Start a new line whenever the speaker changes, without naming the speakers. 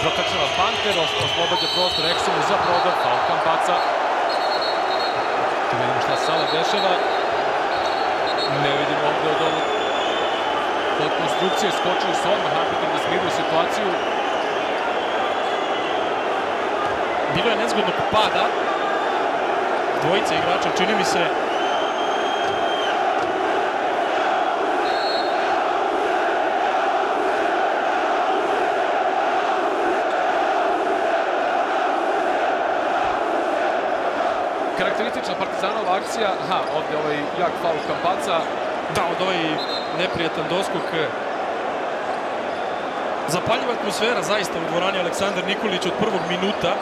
Protrčava Panter, oslobađa prostor Ekstremu za prodor, faul Campazza. Tu vidimo šta se sada dešava. Ne vidimo ovdje od ovog od konstrukcije, skočili su odmah Arbiter da smiruju situaciju.
Bilo je nezgodnog pada dvojice igrača, čini mi se.
Karakteristična Partizanova akcija, ovdje ovaj jak faul Campazza.
Da, od ovaj neprijetan doskok. Zapaljiva atmosfera zaista u dvorani Aleksandar Nikolić od prvog minuta.